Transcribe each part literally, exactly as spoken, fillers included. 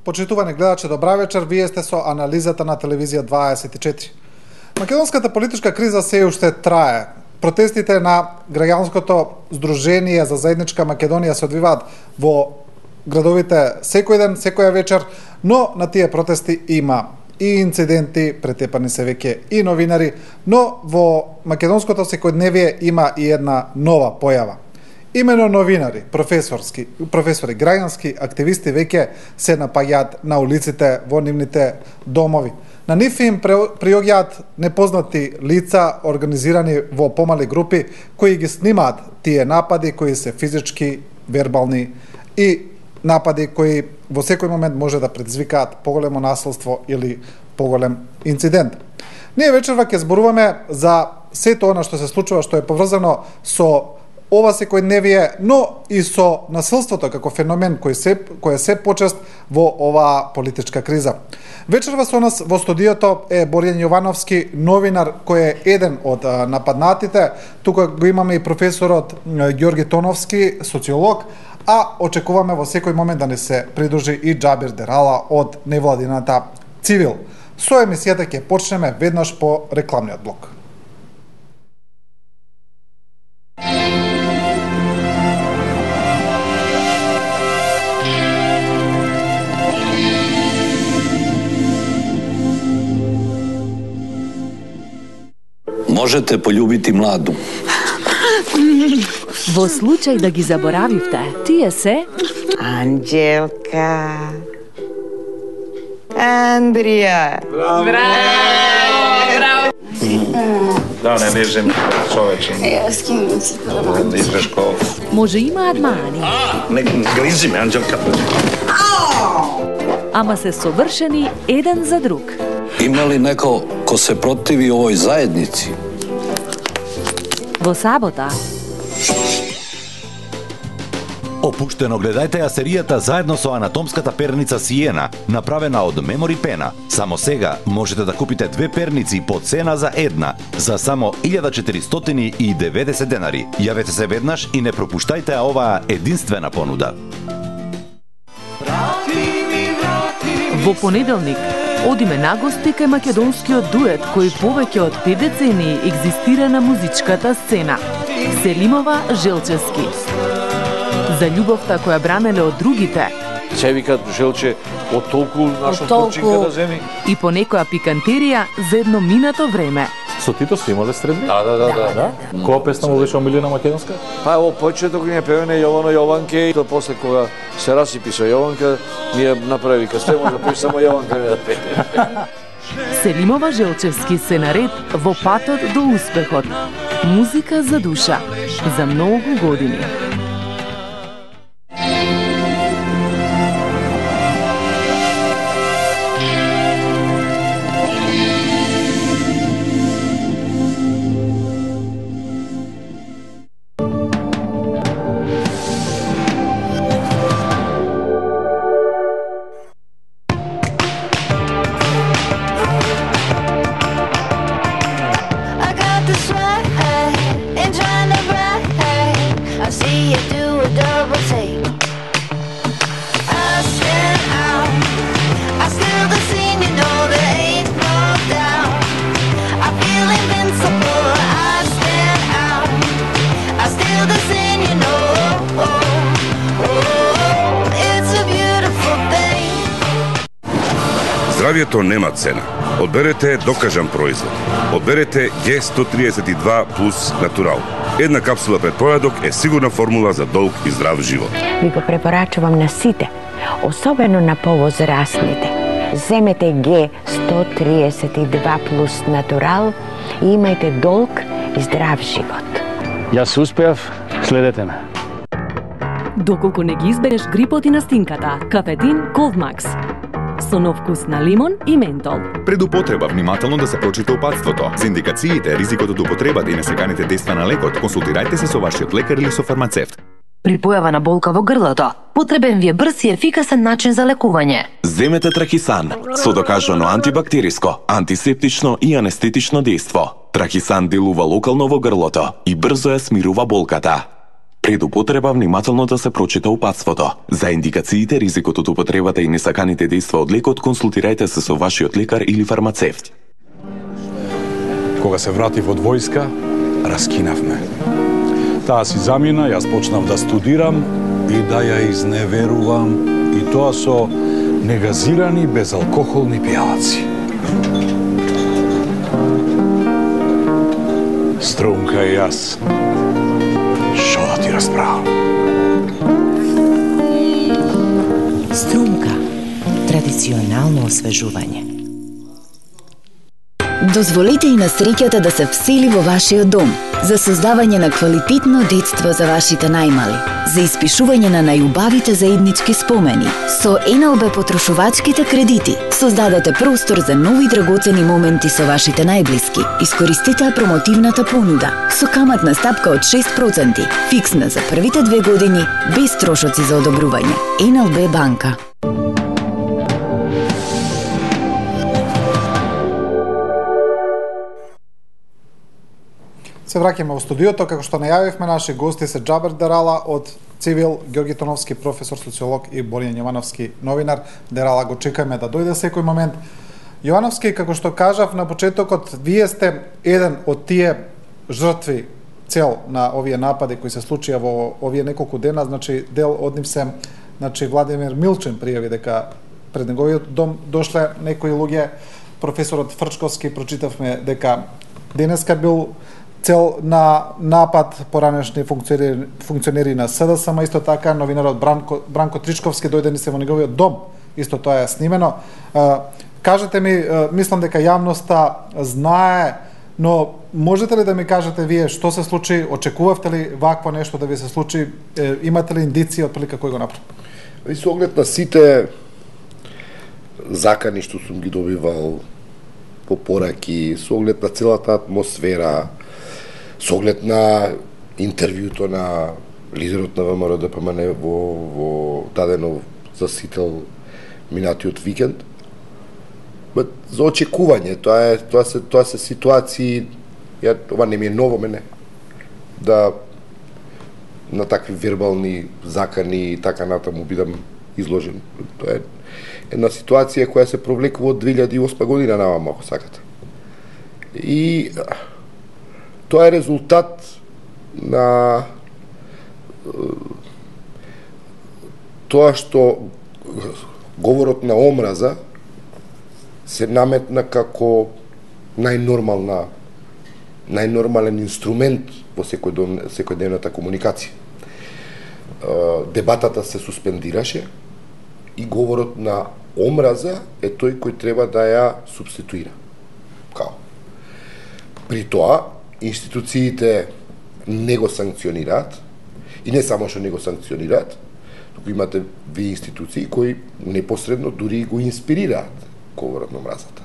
Почитувани гледачи, добра вечер, вие сте со анализата на телевизија дваесет и четири. Македонската политичка криза се уште трае. Протестите на граѓанското Сдружение за заедничка Македонија се одвиваат во градовите секој ден, секоја вечер, но на тие протести има и инциденти, претепани се веќе и новинари, но во македонското секојдневие има и една нова појава. Имено новинари, професорски, професори, граѓански активисти веќе се напаѓаат на улиците во нивните домови. На нив им приоѓаат непознати лица организирани во помали групи кои ги снимаат тие напади кои се физички, вербални и напади кои во секој момент може да предизвикаат поголемо насилство или поголем инцидент. Ние вечерва ќе зборуваме за сето она што се случува, што е поврзано со ова секојдневие, но и со насилството како феномен кој се кој е се почест во оваа политичка криза. Вечерва со нас во студиото е Борјан Јовановски, новинар кој е еден од нападнатите. Тука го имаме и професорот Ѓорги Тоновски, социолог, а очекуваме во секој момент да не се придружи и Џабир Дерала од невладината Цивил. Со емисијата ќе почнеме веднаш по рекламниот блок. Можете полюбити младу. Во случај да ги заборавивте, тие се Анđелка, Андрија. Браво! Браво! Да, не лежим човече. Јас ким си Да изгрешко. може имаат мани, Не гризи ме, Анđelка. ама се совршени еден за друг. Има ли неко ко се противи овој заедници? Во сабота Опуштено гледајте ја серијата заедно со анатомската перница Сиена, направена од Мемори Пена. Само сега можете да купите две перници по цена за една, за само илјада четиристотини и деветдесет денари. Јавете се веднаш и не пропуштајте оваа единствена понуда. во понеделник одиме на гости кај македонскиот дует кој повеќе од пет децении екзистира на музичката сцена. Селимова Желчевски. За љубовта која бранеле од другите Се викат Желче од толку наша турчинка да земи. и по некоја пикантерија за едно минато време. Со Тито сте имале средби? Да, да, да, да. Да? Која песна му беше омилена македонска? Па во почеток ни е певене Јовано Јованке и то после кога се расипи со Јованка, ние направи касте може да пее само Јованка не да пее. Селимова Желчевски се наред во патот до успехот. Музика за душа. За многу години. I got the sweat and trying to brag. I see you do a double take. I stand out. I still the scene, you know there ain't no doubt. I feel invincible. I stand out. I still the scene, you know. Oh, oh, it's a beautiful thing. Здравието нема цена. Одберете докажан производ. Одберете Г сто триесет и два плюс Натурал. Една капсула пред појадок е сигурна формула за долг и здрав живот. Ви го препорачувам на сите, особено на повозрастните. Земете Г сто триесет и два плюс Натурал и имајте долг и здрав живот. Јас успеав, следете ме. Доколку не ги избереш грипот и настинката, кафедин Колдмакс. Со нов вкус на лимон и ментол. Пред употреба внимателно да се прочита упатството. За индикациите, ризикот од употребата и несеканите дејства на лекот, консултирајте се со вашиот лекар или со фармацевт. При појава на болка во грлото, потребен ви е брз и ефикасен начин за лекување. Земете Трахисан со докажано антибактериско, антисептично и анестетично дејство. Трахисан делува локално во грлото и брзо ја смирува болката. Пред употреба внимателно да се прочита упатството. За индикациите, ризикот од употребата и несаканите дејства од лекот, консултирајте се со вашиот лекар или фармацевт. Кога се вратив од војска, раскинавме. Таа си замина, јас почнав да студирам и да ја изневерувам, и тоа со негазирани безалкохолни пијалаци. Струмка и јас. Шо да ти расправам? Струмка. Традиционално освежување. Дозволете и на среќата да се всели во вашиот дом, за создавање на квалитетно детство за вашите најмали, за испишување на најубавите заеднички спомени. Со Ен Ел Би потрошувачките кредити создадете простор за нови драгоцени моменти со вашите најблиски. Искористете промотивната понуда со каматна стапка од шест проценти, фиксна за првите две години, без трошоци за одобрување. Ен Ел Би банка. Се враќаме во студиото, како што најавивме, наши гости се Џабер Дерала од Цивил, Ѓорги Тоновски, професор социолог, и Боријан Јовановски, новинар. Дерала го чекаме да дојде секој момент. Јовановски, како што кажав на почетокот, вие сте еден од тие жртви цел на овие напади кои се случија во овие неколку дена, значи дел од нив се, значи Владимир Милчен пријави дека пред неговиот дом дошле некои луѓе. Професорот Фрчковски прочитавме дека денеска бил цел на напад поранешни функционери, функционери на С Д С М, исто така новинарот Бранко, Бранко Тричковски дојде ни се во неговиот дом, исто тоа е снимено. Кажете ми, мислам дека јавноста знае, но можете ли да ми кажете вие што се случи, очекувавте ли вакво нешто да ви се случи, имате ли индиција од прилика кој го направи? Со оглед на сите закани што сум ги добивал по пораки, со оглед на целата атмосфера, со оглед на интервјуто на лидерот на ВМРО Д П М Н во, во дадено засител минатиот викенд, за очекување, тоа е тоа се тоа се ситуации, ја ова не ми е ново мене, да на такви вербални закани и така натаму бидам изложен. Тоа е една ситуација која се провлекува од две илјади и осма година наваму, ако сакате. И тоа е резултат на тоа што говорот на омраза се наметна како најнормална најнормален инструмент во секојдневната комуникација. Дебатата се суспендираше и говорот на омраза е тој кој треба да ја субституира. Као? При тоа, институциите не го санкционираат, и не само што не го санкционираат, туку имате ви институции кои непосредно дури го инспирираат говорот на омразата.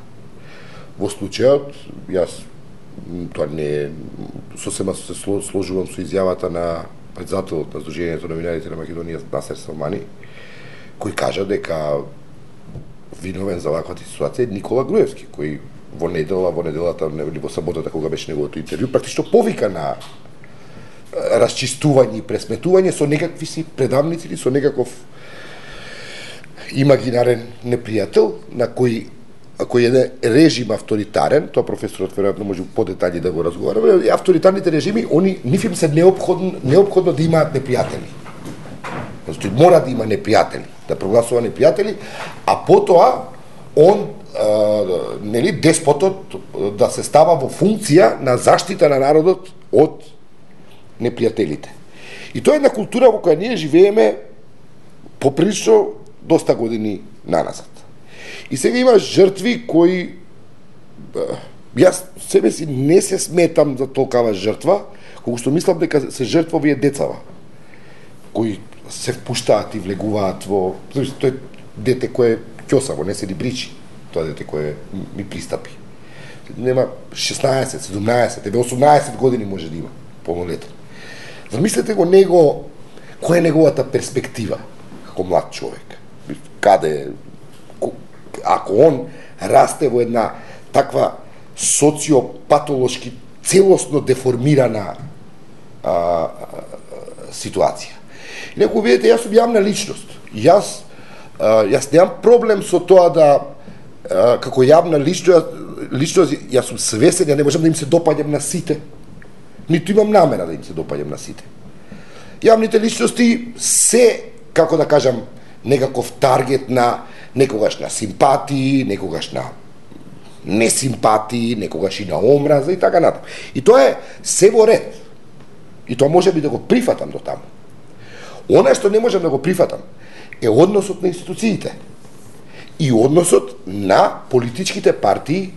Во случајот, јас тоа не сосема се сложувам со изјавата на председателот на Сдруженијето на новинарите на Македонија, Насер Салмани, кој кажа дека виновен за ваквата ситуација е Никола Груевски, кој во недела, во неделата или во саботата кога беше неговото интервју, практично повика на расчистување и пресметување со некакви си предавници или со некаков имагинарен непријател на кој кој е режим авторитарен, тоа професорот веројатно може по детали да го разговараме, и авторитарните режими, они нив им се неопходно, неопходно да имаат непријатели. Значи, мора да има непријатели, да прогласува непријатели, а потоа он, а, нели, деспотот да се става во функција на заштита на народот од непријателите. И тоа е една култура во која ние живееме поприлично доста години наназад. И сега има жртви кои, јас себе си не се сметам за толкава жртва, колку што мислам дека се жртва овие децава, кои се впуштаат и влегуваат во... Тоа е дете кое ќосаво, не се ни бричи, тоа дете кое ми пристапи. Нема шеснаесет, седумнаесет, еве осумнаесет години може да има, полнолетен. Замислете го него, која е неговата перспектива како млад човек? Каде, ако он расте во една таква социопатолошки, целосно деформирана а, ситуација. И некој видите, јас сум јавна личност. Јас а, јас немам проблем со тоа да а, како јавна личност, личност јас сум свесен, ја не можам да им се допаѓам на сите. Ниту имам намера да им се допаѓам на сите. Јавните личности се, како да кажам, некаков таргет на некогаш на симпатии, некогаш на несимпатии, некогаш и на омраза и така натаму. И тоа е се во ред. И тоа може би да го прифатам до таму. Она што не можам да го прифатам е односот на институциите и односот на политичките партии,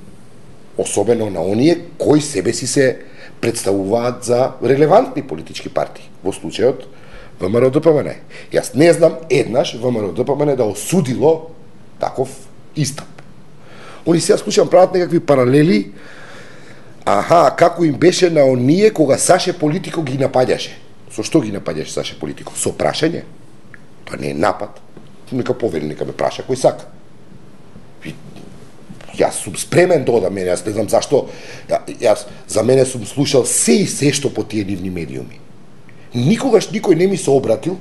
особено на оние кои себе си се представуваат за релевантни политички партии, во случајот ВМРО-ДПМН. Јас не знам еднаш ВМРО-ДПМН да осудило таков истап. Они сега слушам прават некакви паралели, аха, како им беше на оние кога Саше Политико ги напаѓаше. Со што ги напаѓаше Саше Политико? Со прашање. Тоа не е напад. Нека повели, нека ме праша кој сака. И, јас сум спремен да одам, јас не знам зашто, јас за мене сум слушал се и се што по тие нивни медиуми. Никогаш никој не ми се обратил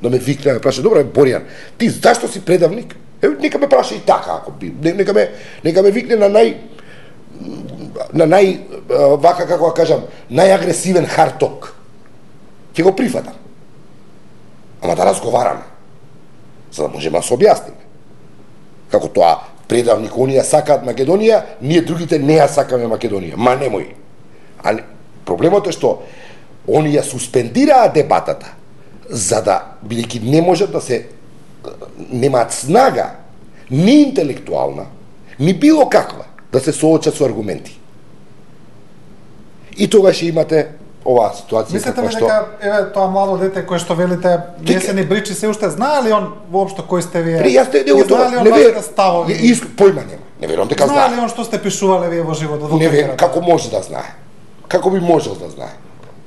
да ме викне, да ме праша, добре, Боријан, ти зашто си предавник? Е, нека ме праша и така, ако би. Нека ме, нека ме викне на нај на нај, вака како да кажам, најагресивен харток. Ќе го прифатам. Ама да разговараме. За да можеме да се објасниме. Како тоа, предавник, оние сакаат Македонија, ние другите не ја сакаме Македонија. Ма немој. А не, проблемот е што они ја суспендираа дебатата, за да, бидејќи не можат да се, немаат снага, ни интелектуална, ни било каква, да се соочат со аргументи. И тогаш имате оваа ситуација. Мислите ли дека, еве, тоа младо дете кое што велите, не се ни бричи, се уште знае ли он воопшто кој сте вие? При, јас те, не, знае ли он вашите ставови? Иск, појма нема. Не верувам дека знае. Знае ли он што сте пишувале вие во животот? Не верувам, како може да знае? Како би можел да знае?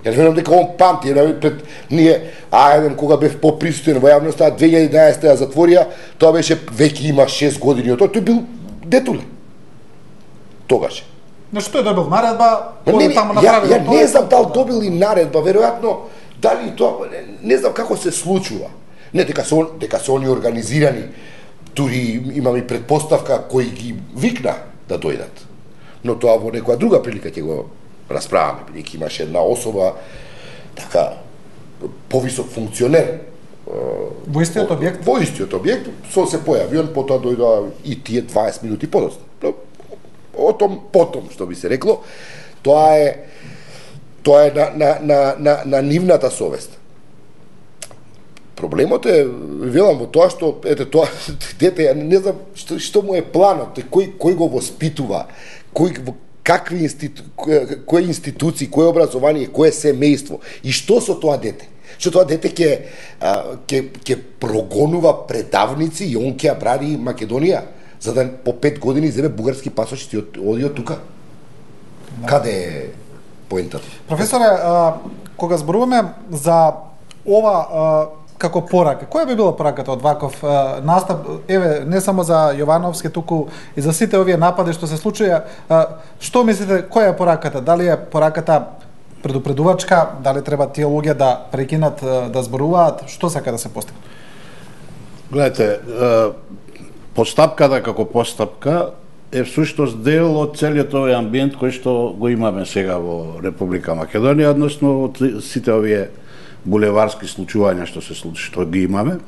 Јас верувам дека он памти, пред ние, а еден кога бев поприсутен во јавноста, две илјади и еднаесета ја затворија, тоа беше веќе има шест години од тоа, тој бил детуле. Тогаш. Но што е добил наредба, не, не, таму ја, направил. ја не знам дали добил и наредба, веројатно дали тоа не, не знам како се случува. Не дека се дека се они организирани, тури имам и предпоставка кои ги викна да дојдат. Но тоа во некоја друга прилика ќе го расправаме, бидејќи имаше една особа така повисок функционер во истиот објект. Во истиот објект со се појави, он потоа дојдоа и тие дваесет минути подоцна. О том потом, што би се рекло, тоа е тоа е на на на на, на нивната совест. Проблемот е, велам, во тоа што ете тоа дете, не знам што што му е планот, кој кој го воспитува, кој какви институ, кои институции, кое образование, кое семејство и што со тоа дете? Што тоа дете ќе ќе ќе прогонува предавници и он ќе ја бради Македонија за да по пет години земе бугарски пасош и оди од тука. Да. Каде е поентата? Професоре, а, кога зборуваме за ова а, како порака, која би била пораката од ваков а, настап, еве, не само за Јовановски, туку и за сите овие напади што се случија, а, што мислите, која е пораката? Дали е пораката предупредувачка, дали треба тие луѓе да прекинат да зборуваат, што сака да се постигне? Гледате, постапката како постапка е всушност дел од целиот овој амбиент кој што го имаме сега во Република Македонија, односно од сите овие булеварски случувања што се случи, што ги имаме.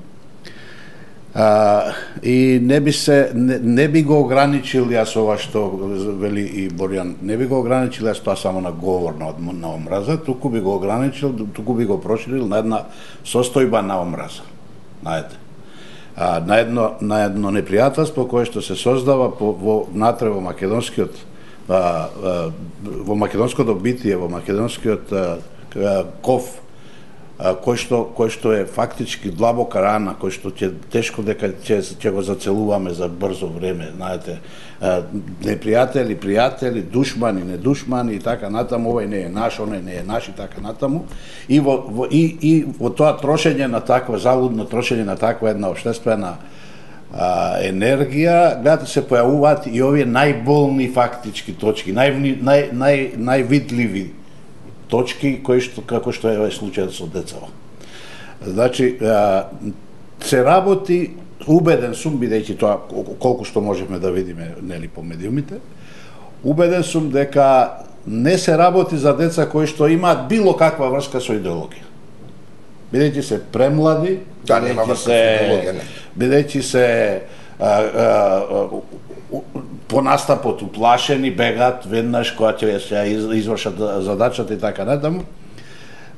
А, и не би се не, не би го ограничил јас ова што вели и Боријан, не би го ограничил јас тоа само на говор на, на омраза, туку би го ограничил, туку би го проширил на една состојба на омраза. Знаете. А, на едно на едно непријателство кое што се создава по, во внатре во македонскиот а, а, во македонското битие, во македонскиот а, а, ков, а, кој што кој што е фактички длабока рана, кој што ќе тешко дека ќе ќе го зацелуваме за брзо време, знаете, а, непријатели, пријатели, душмани, недушмани и така натаму, овој не е наш, оној не е наш и така натаму. И во, во и и во тоа трошење на таква залудно трошење на таква една општествена а, енергија, гледате се појавуваат и овие најболни фактички точки, нај нај нај највидливи точки кои што како што е овој случај со децава. Значи, а, се работи, убеден сум, бидејќи тоа колку што можеме да видиме нели по медиумите, убеден сум дека не се работи за деца кои што имаат било каква врска со идеологија. Бидејќи се премлади, да, бидејќи се, бидејќи се а, а, по настапот уплашени, бегат веднаш кога ќе се извршат задачата и така натаму,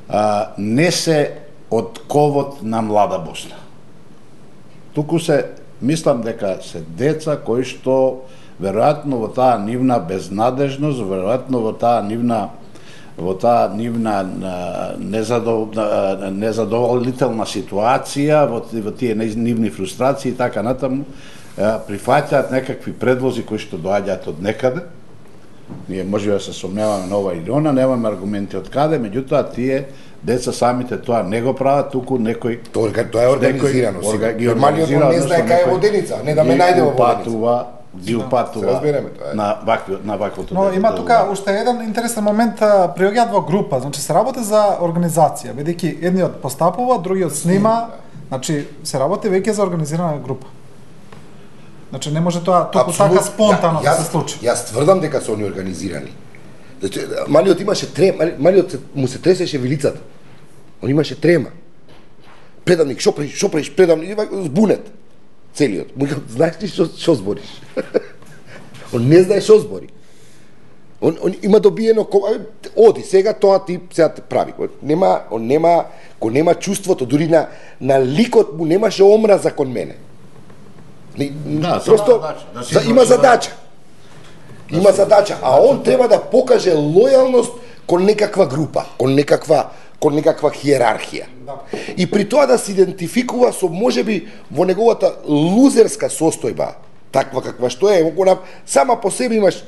а, не се од ковот на млада Босна. Туку се, мислам дека се деца кои што веројатно во таа нивна безнадежност, веројатно во таа нивна во таа нивна незадов... незадоволителна ситуација, во, во тие нивни фрустрации и така натаму, прифаќаат некакви предлози кои што доаѓаат од некаде. Ние може да се сомневаме на ова или она, немаме аргументи од каде, меѓутоа тие деца самите тоа не го прават, туку некој тоа, тоа е организирано. Малиот не знае кај е воденица, не да ме најде во воденица. Ги упатува на вакви, на ваквото. Но има тука уште еден интересен момент, приоѓаат во група, значи се работи за организација, бидејќи едниот постапува, другиот снима, значи се работи веќе за организирана група. Значи не може тоа толку така спонтано да се случи. Јас тврдам дека се они организирани. Значи малиот имаше трема, малиот му се тресеше вилицата. Он имаше трема. Предавник, шо правиш, шо правиш, предавник, збунет. Целиот. Му знаеш ли што што збориш? Он не знае што збори. Он, он има добиено, оди, сега тоа ти сега те прави. Нема, он нема, ko нема чувството, дури на, на ликот му немаше омраза кон мене. Не, да, просто задача, да за, има задача. Да има задача, а он треба да покаже лојалност кон некаква група, кон некаква кон некаква хиерархија. Да. И при тоа да се идентификува со можеби во неговата лузерска состојба, таква каква што е, кога сама по себе имаш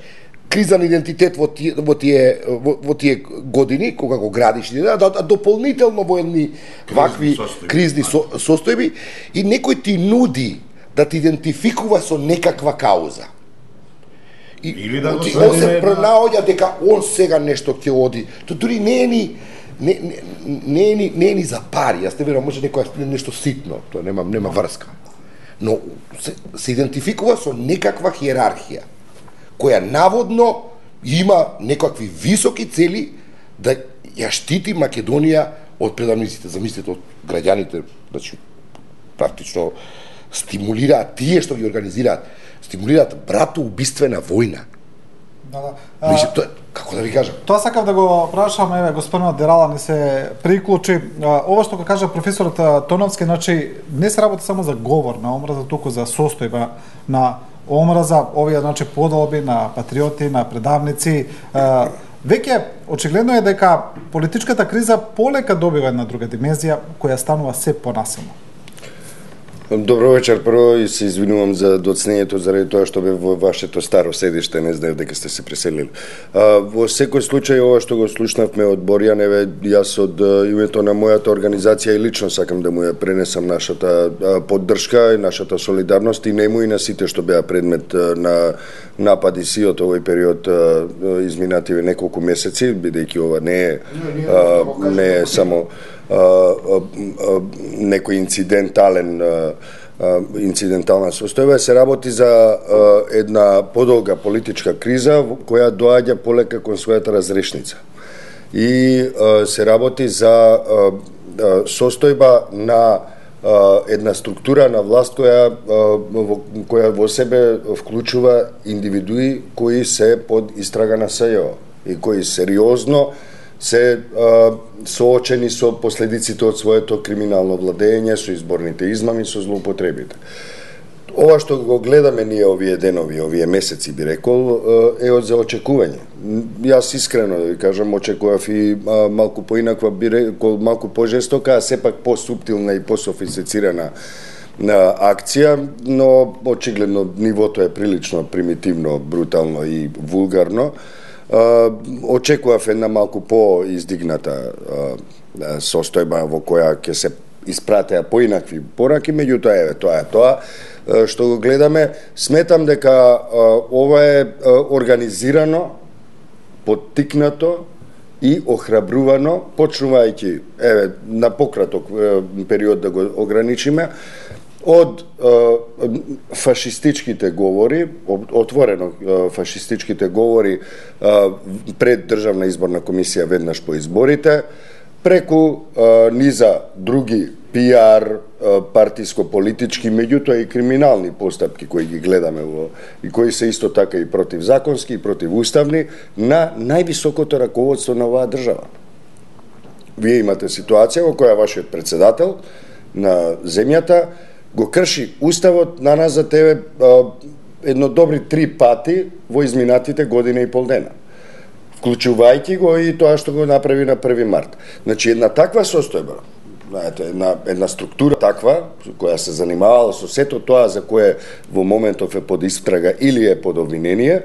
кризан идентитет во тие во тие во, во тие години кога го градиш, да, да дополнително во едни вакви состојби, кризни со, состојби и некој ти нуди да ти идентификува со некаква кауза. И или да го он се пронаоѓа дека он сега нешто ќе оди. Тоа дури не е ни не не не е ни не е ни за пари. Јас не верувам, може некоја нешто ситно, тоа нема нема врска. Но се, се идентификува со некаква хиерархија која наводно има некакви високи цели да ја штити Македонија од предавниците. Замислете, од граѓаните, значи практично стимулираат тие што ги организираат, стимулираат братоубиствена војна. Да, да. Мисли, тоа, како да ви кажам? Тоа сакав да го прашам, еве, господинот Дерала не се приклучи. Ова што го кажа професорот Тоновски, значи, не се работи само за говор на омраза, туку за состојба на омраза, овие, значи, подолби на патриоти, на предавници. Веќе, очигледно е дека политичката криза полека добива една друга димензија, која станува се понасилна. Добро вечер, прво, и се извинувам за доцнењето заради тоа што бе во вашето старо седиште, не знаев дека сте се преселили. А, во секој случај, ова што го слушнавме од Борјан, еве, јас од името на мојата организација и лично сакам да му ја пренесам нашата а, поддршка и нашата солидарност и нему и на сите што беа предмет а, на напади сиот овој период а, изминативе неколку месеци, бидејќи ова не е, а, не е само Uh, uh, uh, некој инцидентален uh, uh, инцидентална состојба, се работи за uh, една подолга политичка криза која доаѓа полека кон својата разрешница. И uh, се работи за uh, uh, состојба на uh, една структура на власт која uh, во, која во себе вклучува индивидуи кои се под истрага на СЈО и кои сериозно се а, соочени со последиците од своето криминално владење, со изборните измами, со злоупотребите. Ова што го гледаме ние овие денови, овие месеци, би рекол, е од за очекување. Јас искрено да ви кажам, очекував и а, малку поинаква, би рекол, малку пожестока, а сепак посуптилна и пософистицирана на акција, но очигледно нивото е прилично примитивно, брутално и вулгарно. Uh, очекував една малку по-издигната uh, состојба во која ќе се испратеа поинакви пораки, меѓутоа еве тоа е тоа uh, што го гледаме. Сметам дека uh, ова е uh, организирано, поттикнато и охрабрувано, почнувајќи, еве, на пократок е, период да го ограничиме, од е, фашистичките говори, отворено е, фашистичките говори е, пред Државна изборна комисија веднаш по изборите, преку е, низа други пиар, партиско-политички, меѓутоа и криминални постапки кои ги гледаме во и кои се исто така и противзаконски и противуставни на највисокото раководство на оваа држава. Вие имате ситуација во која вашиот председател на земјата го крши уставот на нас за тебе едно добри три пати во изминатите година и пол дена, вклучувајќи го и тоа што го направи на први март. Значи, една таква состојба, знаете, една, една структура таква, која се занимавала со сето тоа за кое во моментов е под истрага или е под обвинение,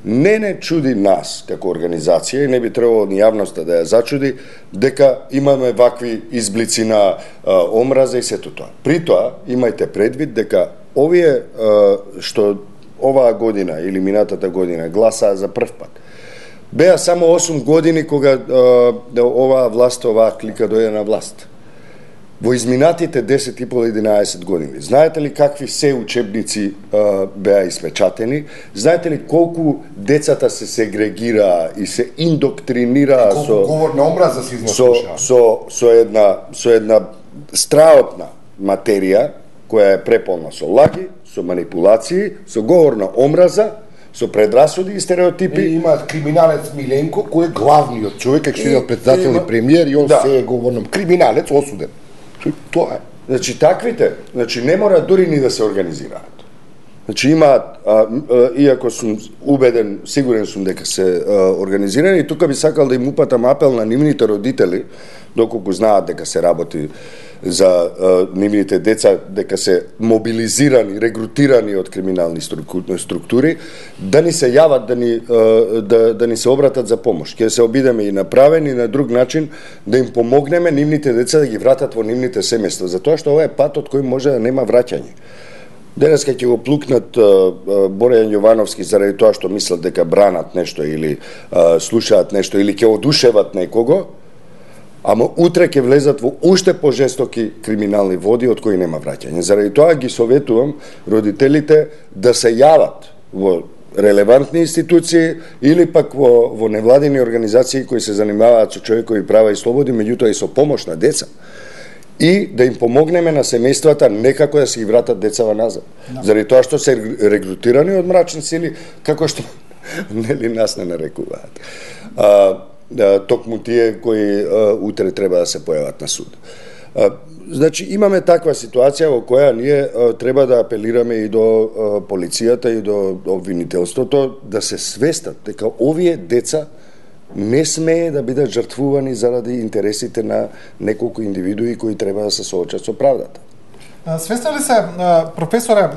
не не чуди нас како организација и не би требало ни јавноста да ја зачуди дека имаме вакви изблици на а, омраза и сето тоа. При тоа, имајте предвид дека овие а, што оваа година или минатата година гласаа за прв пат, беа само осум години кога а, оваа власт, оваа клика дојде на власт. Во изминатите десет и пол единаесет години, знаете ли какви се учебници а, беа испечатени? Знаете ли колку децата се сегрегираа и се индоктринираа колку со говор на омраза се со, износуша? со, со, една, со една страотна материја која е преполна со лаги, со манипулации, со говор на омраза, со предрасуди и стереотипи. И има криминалец Миленко кој е главниот човек, како што е председател и премиер и он да. се е говорном криминалец осуден. Тоа е. Значи таквите, значи не мора дури ни да се организираат. Значи имаат, а, а, иако сум убеден, сигурен сум дека се а, организирани, и тука би сакал да им упатам апел на нивните родители, доколку знаат дека се работи за а, нивните деца, дека се мобилизирани, регрутирани од криминални структури, да ни се јават, да ни, а, да, да ни се обратат за помош. Ќе се обидеме и направен и на друг начин да им помогнеме нивните деца да ги вратат во нивните семејства, затоа што ова е патот кој може да нема враќање. Денеска ќе го плукнат Борејан Јовановски заради тоа што мислат дека бранат нешто или а, слушаат нешто или ќе одушеват некого, ама утре ќе влезат во уште пожестоки криминални води од кои нема враќање. Заради тоа ги советувам родителите да се јават во релевантни институции или пак во, во невладини организации кои се занимаваат со човекови права и слободи, меѓутоа и со помош на деца. И да им помогнеме на семејствата некако да се ги вратат децава назад. No. Заради тоа што се регрутирани од мрачни сили, како што нели нас не нарекуваат. А, да, токму тие кои а, утре треба да се појават на суд. А, значи имаме таква ситуација во која ние а, треба да апелираме и до а, полицијата и до обвинителството да се свестат дека овие деца не смее да бидат жртвувани заради интересите на неколку индивидуи кои треба да се соочат со правдата. Свесни ли се, професоре,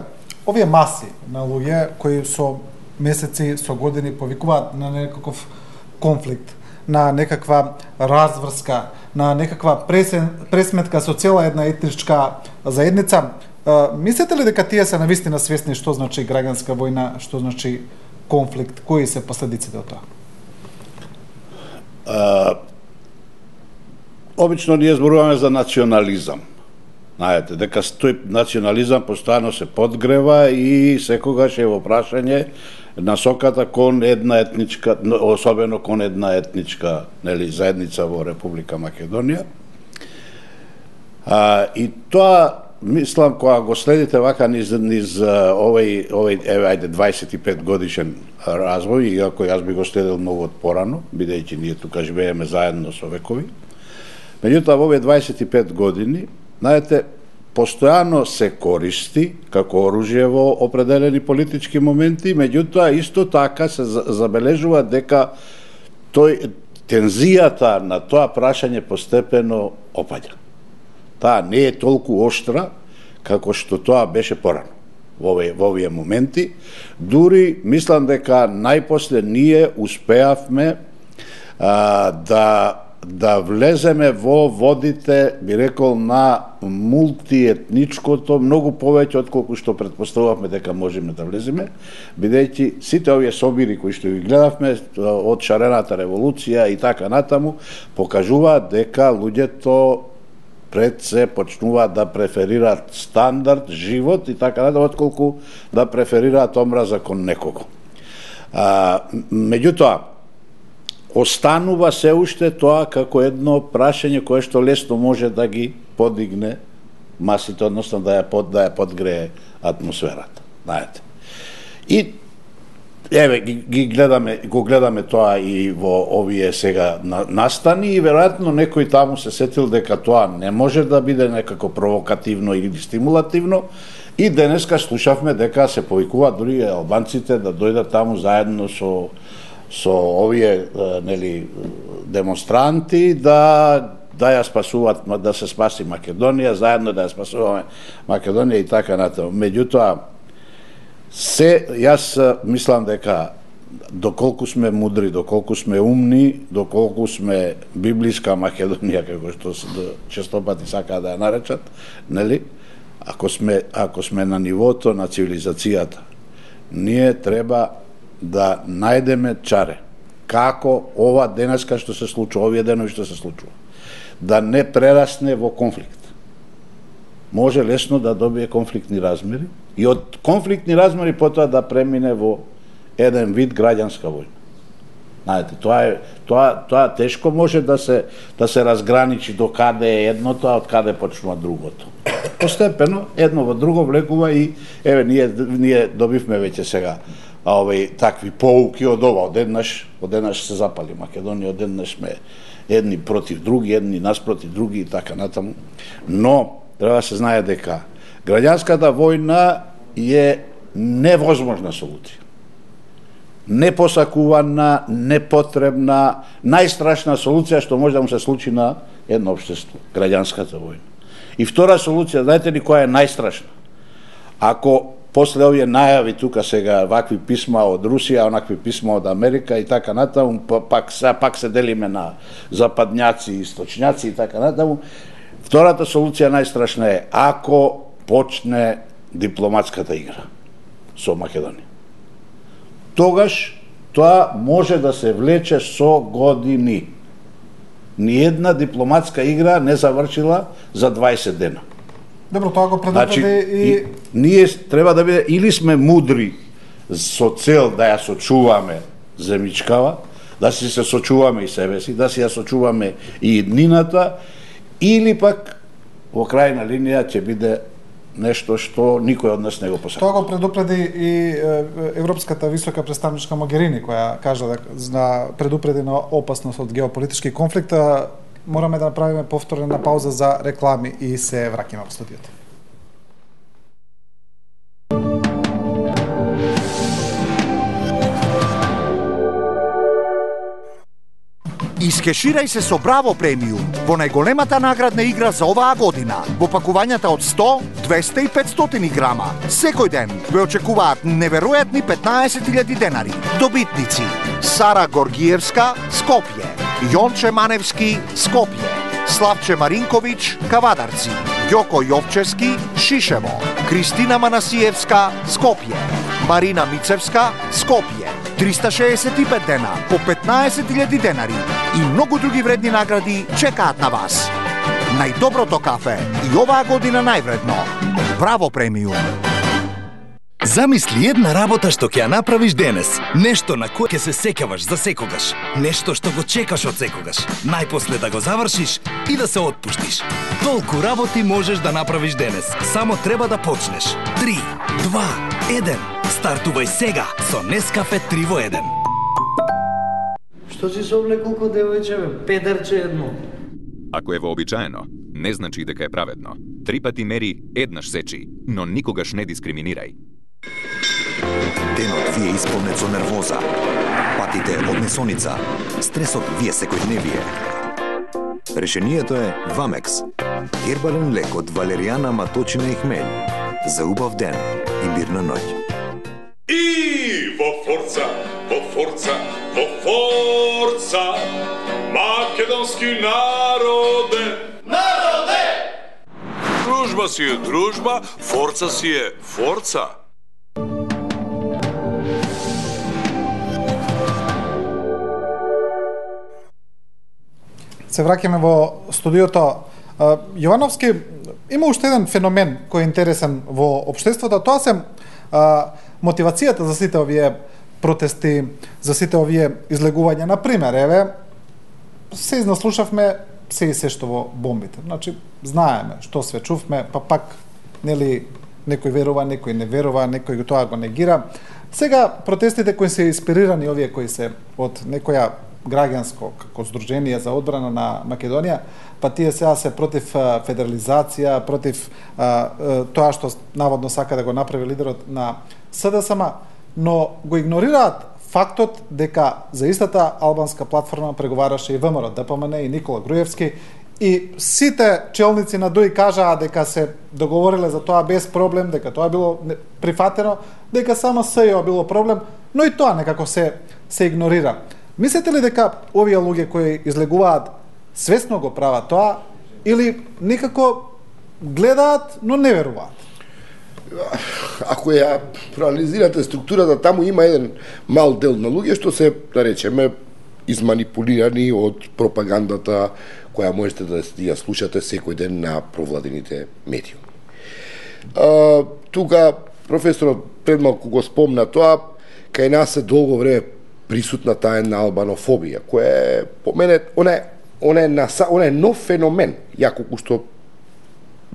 овие маси на луѓе кои со месеци, со години повикуваат на некаков конфликт, на некаква разврска, на некаква пресен, пресметка со цела една етничка заедница, мислите ли дека тие се навистина свесни што значи граѓанска војна, што значи конфликт, кои се последиците од тоа? Uh, обично ние зборуваме за национализам. Знаете, дека тој национализам постојано се подгрева и секогаш е во прашање насоката кон една етничка, особено кон една етничка, нели, заедница во Република Македонија. Uh, и тоа, мислам, кога го следите вака низ, низ овој, овој, еве, ајде, дваесет и пет годишен развој, иако јас би го следил многу од порано, бидејќи ние тука живееме заедно со векови. Меѓутоа, во овие дваесет и пет години, знаете, постојано се користи како оружје во определени политички моменти, меѓутоа, исто така се забележува дека тој, тензијата на тоа прашање постепено опаѓа. Таа не е толку оштра како што тоа беше порано во овие, во овие моменти. Дури мислам дека најпосле ние успеавме а, да да влеземе во водите, би рекол, на мултиетничкото, многу повеќе од колку што предпоставувавме дека можеме да влеземе, бидејќи сите овие собири кои што ги гледавме од шарената револуција и така натаму, покажуваат дека луѓето пред се почнуваат да преферираат стандард, живот и така натаму, отколку да преферираат омраза кон некого. А, меѓутоа, останува се уште тоа како едно прашање кое што лесно може да ги подигне масите, односно да ја под да ја подгрее атмосферата, знаете. И еве ги, ги гледаме, го гледаме тоа и во овие сега настани и веројатно некој таму се сетил дека тоа не може да биде некако провокативно или стимулативно. И денеска слушавме дека се повикуваат дури албанците да дојдат таму заедно со со овие нели демонстранти да да ја спасуваат, да се спаси Македонија, заедно да ја спасуваме Македонија и така натаму. Меѓутоа се јас мислам дека доколку сме мудри, доколку сме умни, доколку сме библиска Македонија како што честопати сакаат да ја наречат, нели? Ако сме ако сме на нивото на цивилизацијата, ние треба да најдеме чаре како ова денеска што се случува, овие денови што се случува, да не прерасне во конфликт. Може лесно да добие конфликтни размери и од конфликтни размери потоа да премине во еден вид граѓанска војна. Знаете, тоа е тоа тоа тешко може да се да се разграничи до каде е едното, а од каде почнува другото. Постепено едно во друго влегува и еве ние ние добивме веќе сега а овој такви поуки од ова, одеднаш, одеднаш се запали Македонија, одеднаш сме едни против други, едни наспротив други и така натаму. Но треба да се знае дека граѓанската војна е невозможна солуција. Непосакувана, непотребна, најстрашна солуција што може да му се случи на едно општество, граѓанската војна. И втора солуција, знаете ли која е најстрашна? Ако после овие најави тука сега вакви писма од Русија, онакви писма од Америка и така натаму, пак се пак се делиме на западњаци и источњаци и така натаму. Втората солуција најстрашна е ако почне дипломатската игра со Македонија. Тогаш тоа може да се влече со години. Ниедна дипломатска игра не завршила за дваесет дена. Добро, тоа го предупреди значи, и... и... Ние треба да биде, или сме мудри со цел да ја сочуваме земјичкава, да си се сочуваме и себе си, да си ја сочуваме и иднината, или пак во крајна линија ќе биде нешто што никој од нас не го посакува. Тоа го предупреди и Европската висока представничка Могерини, која кажа да предупреди на опасност од геополитички конфликт. Мораме да направиме повторна пауза за реклами и се враќаме во студиото. Искеширај се со Браво премиум во најголемата наградна игра за оваа година. Во пакувањата од сто, двесте и петстотини грама. Секој ден ве очекуваат неверојатни петнаесет илјади денари. Добитници: Сара Горгиевска, Скопје; Јонче Маневски, Скопје; Славче Маринковиќ, Кавадарци; Ѓоко Јовчевски, Шишево; Кристина Манасиевска, Скопје; Марина Мицевска, Скопје. триста шеесет и пет дена по петнаесет илјади денари и многу други вредни награди чекаат на вас. Најдоброто кафе и оваа година највредно. Браво премиум. Замисли една работа што ќе ја направиш денес. Нешто на кое ќе се сеќаваш за секогаш. Нешто што го чекаш од секогаш. Најпосле да го завршиш и да се отпуштиш. Толку работи можеш да направиш денес. Само треба да почнеш. три, два, еден. Стартувај сега со Нескафе три во еден. Што си се облекол ко девојче, бе? Педерче едно. Ако е вообичаено, не значи дека е праведно. Три пати мери, еднаш сечи, но никогаш не дискриминирај. Денот ви е исполнет со нервоза. Патите од несоница. Стресот ви е секојдневие. Решението е Вамекс. Хербален лек од валеријана, маточина и хмелј. За убав ден и мирна ноќ. И во форца, во форца, во форца, македонски народе. Народе! Дружба си е дружба, форца си е форца. Се враќаме во студиото. Јовановски, има уште еден феномен кој е интересен во општеството, тоа се а, мотивацијата за сите овие протести, за сите овие излегувања. Например, еве, се изнаслушавме се и се што во бомбите. Значи, знаеме што све чувме, па пак, нели, некој верува, некој не верува, некој го тоа го негира. Сега, протестите кои се инспирирани, овие кои се од некоја граѓанско како здружение за одбрана на Македонија, па тие сега се против федерализација, против а, а, тоа што наводно сака да го направи лидерот на СДСМ, но го игнорираат фактот дека за истата албанска платформа преговараше и ВМРО, ДПМН и Никола Груевски, и сите челници на ДОИ кажаа дека се договориле за тоа без проблем, дека тоа било прифатено, дека само СЈО било проблем, но и тоа некако се се игнорира. Мислите ли дека овие луѓе кои излегуваат свесно го прават тоа или некако гледаат, но не веруваат? Ако ја проанализирате структурата, таму има еден мал дел на луѓе што се, да речеме, изманипулирани од пропагандата која можете да ја слушате секој ден на провладените медиуми. А, тука професорот пред малку го спомна тоа, кај нас е долго време присутна таа една албанофобија, која е, по мене, она е, она е, наса, она е нов феномен, ја колку што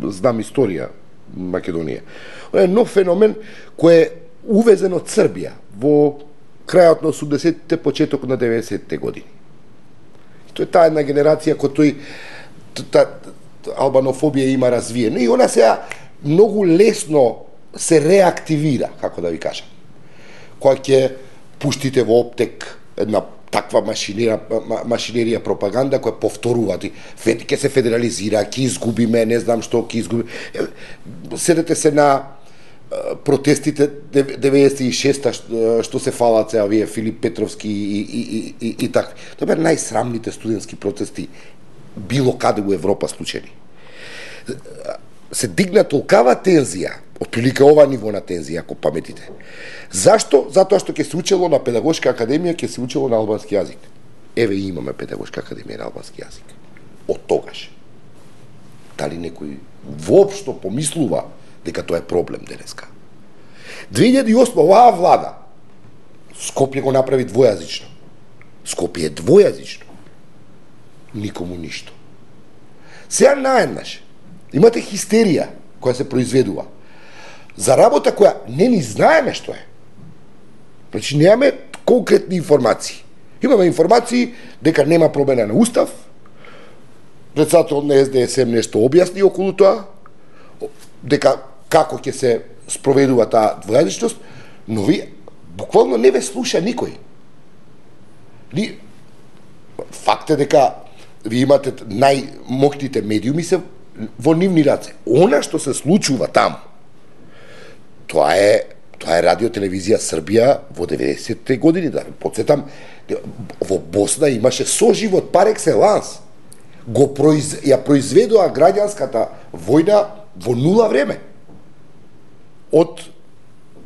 знам историја Македонија. Она е нов феномен кој е увезен од Србија во крајот на осумдесетите, почеток на деветдесетите години. Тој е таа една генерација која тој та, албанофобија има развиена и она сега многу лесно се реактивира, како да ви кажам. Која ќе пуштите во оптек една таква машинерија, машинерија пропаганда која повторува, ќе се федерализира, ќе изгубиме, не знам што ќе изгубиме. Седете се на протестите деветдесет и шеста што се фалат се овие Филип Петровски и, и, и, и, и така. Тоа беа најсрамните студентски протести било каде во Европа случени. Се дигна толкава тензија, отприлика ова ниво на тензија, ако паметите. Зашто? Затоа што ќе се учело на педагошка академија, ќе се учело на албански јазик. Еве имаме педагошка академија на албански јазик. Од тогаш. Дали некој воопшто помислува дека тоа е проблем денеска? две илјади и осма оваа влада Скопје го направи двојазично. Скопје е двојазично. Никому ништо. Сега наеднаш имате хистерија која се произведува за работа која не ни знаеме што е. Значи немаме конкретни информации. Имаме информации дека нема промена на устав, председател на Ес Де Ес Ем нешто објасни околу тоа, дека како ќе се спроведува таа двојазичност, но ви буквално не ве слуша никој. Ни факт е дека ви имате најмокните медиуми се во нивни раце. Она што се случува таму, тоа е тоа е радио телевизија Србија во деветдесетите години, да потсетам, во Босна имаше соживот пар екселанс. Го произ, ја произведоа граѓанската војна во нула време од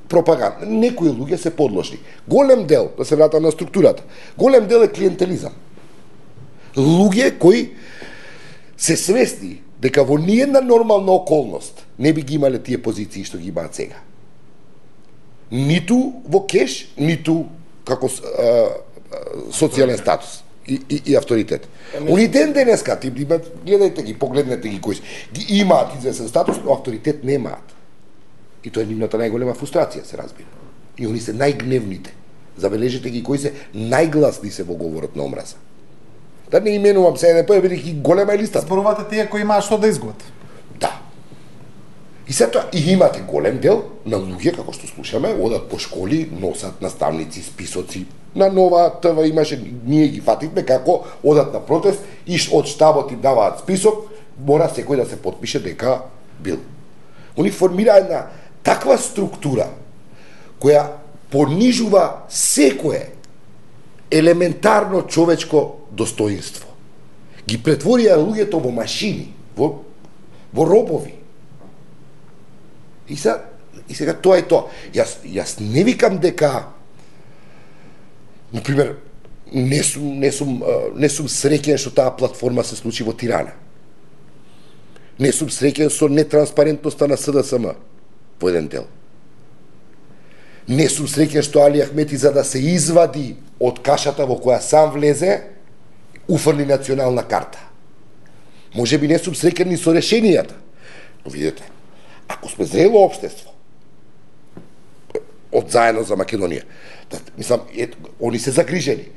пропаганда. Некои луѓе се подложни. Голем дел, да се вратам на структурата, голем дел е клиентелизам. Луѓе кои се свесни дека во ниедна нормална околност не би ги имале тие позиции што ги имаат сега. Ниту во кеш, ниту како а, социјален статус и, и, и авторитет. Они ден денеска, ти гледајте ги, погледнете ги кои ги имаат известен статус, но авторитет немаат. И тоа е нивната најголема фрустрација, се разбира. И они се најгневните. Забележете ги кои се најгласни се во говорот на омраза. Да не именувам се, не појавили голема листа. Зборувате тие кои имаат што да изгубат. Да. И се тоа, и имате голем дел на луѓе, како што слушаме, одат по школи, носат наставници, списоци. На Нова ТВ имаше, ние ги фативме како одат на протест и од штабот им даваат список, мора секој да се потпише дека бил. Они формира една таква структура која понижува секое елементарно човечко достоинство. Ги претворија луѓето во машини, во, во робови. И, са, и сега тоа е тоа. Јас, јас не викам дека, например, не сум, не сум, не сум среќен што таа платформа се случи во Тирана. Не сум среќен со нетранспарентноста на С Д С М во еден дел. Не сум среќен што Али Ахмети, за да се извади од кашата во која сам влезе, уфрли национална карта. Може би не сум среќен ни со решенијата. Но видите, ако сме зрело општество, од заедно за Македонија, да, мислам, е, они се загрижени.